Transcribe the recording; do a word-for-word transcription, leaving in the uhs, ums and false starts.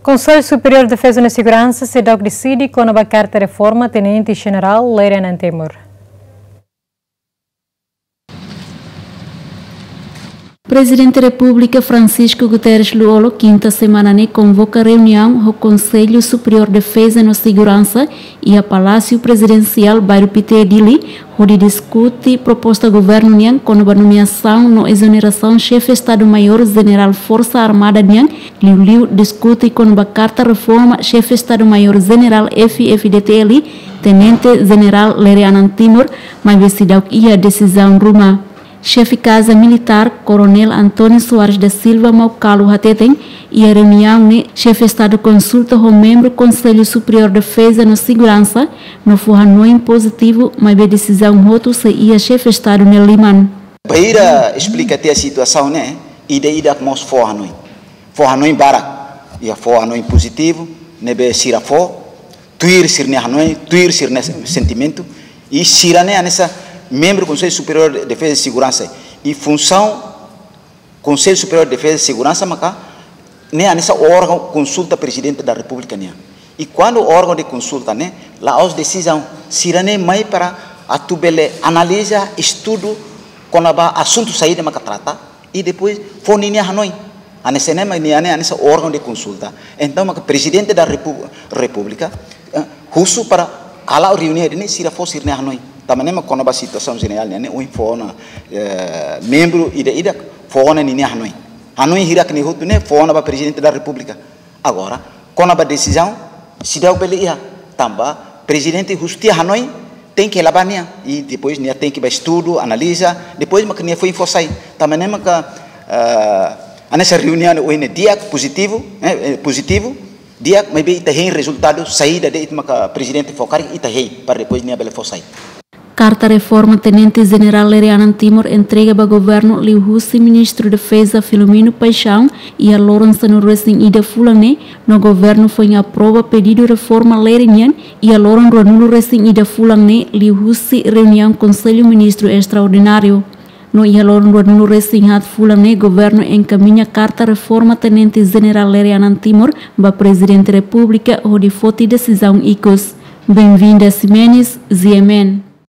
Konsellu Superiór Defeza no Seguransa seidauk deside kona-ba karta reforma Tenente Jenerál Lere Anan Timur. Prezidente Repúblika Francisco Guterres Lú-Olo, kinta semana ne'e, konvoka reuniaun ho Konsellu Superiór Defeza no Seguransa iha Palásiu Prezidensiál, Bairru Pité, Dili, hodi diskute proposta governu nian kona-ba nomeasaun no ezonerasaun Xefe Estadu-Maiór Jenerál Forsa Armada nian, liuliu diskute kona-ba karta reforma Xefe Estadu-Maiór Jenerál F-FDTL, Tenente Jenerál Lere Anan Timur, maibé seidauk iha desizaun ruma. Xefe Kaza Militár, Koronél António Soares da Silva Maucalo, hateten, iha reuniaun ne'e Xefe Estadu konsulta ho membru Konsellu Superiór Defeza no Seguransa, no fó hanoin pozitivu, maibé desizaun hotu sei iha Xefe Estadu nia liman. Bainhira esplika tiha situasaun ne'e, ida-idak mós fó hanoin. Fó hanoin barak, iha fó hanoin pozitivu, ne'ebé sira fó, tuir sira-nia hanoin, tuir sira-nia sentimentu, i sira-ne'e hanesan membru Konsellu Superiór Defeza no Seguransa. I funsaun Konsellu Superiór Defeza no Seguransa maka ne'e hanesan órgaun konsulta Prezidente da Repúblika nian. I kuandu órgaun de konsulta ne'e, la'ós desizaun, sira-ne'e mai para atu bele analiza, estudu kona-ba asuntu saida maka trata, i depois fó ninia hanoin. Hanesan ne'e mak nia ne'e hanesan órgaun de konsulta. Entaun, maka Prezidente da Repu-, Repúblika, eh, husu para kala reuniaun ne'e sira fó sira-nia hanoin. Tanba ne'e mak kona-ba situasaun jenerál ne'e, ne'e ohin fó ona, eh, membru ida-idak fó ona ninia hanoin. Hanoin hirak-ne'e hotu ne'e fó ona ba Prezidente da Repúblika. Agora, kona-ba desizaun, seidauk bele iha, tanba Prezidente husu tiha hanoin, tenke la'o ba nia, i depois nia tenke ba estudu, analiza, depois maka nia foin fó sai. Tanba ne'e maka, eh, hanesan reuniaun ohin ne'e di'ak, pozitivu, eh, eh, pozitivu, di'ak, maibé ita hein rezultadu saida de'it maka Prezidente fó karik, ita hein, para depois nia bele fó sai. Karta reforma Tenente Jenerál Lere Anan Timur entrega ba governu liuhusi Ministru Defeza Filomeno Paixão iha loron sanulu-resin-ida fulan ne'e, no governu foin aprova pedidu reforma Lere nian iha loron ruanulu-resin-ida fulan ne'e, liuhusi reuniaun Konsellu Ministru Estraordináriu. No iha loron ruanulu-resin-haat fulan ne'e, governu enkamiña karta reforma Tenente Jenerál Lere Anan Timur ba Prezidente Repúblika hodi foti desizaun ikus. Benvinda Ximenes, G M N.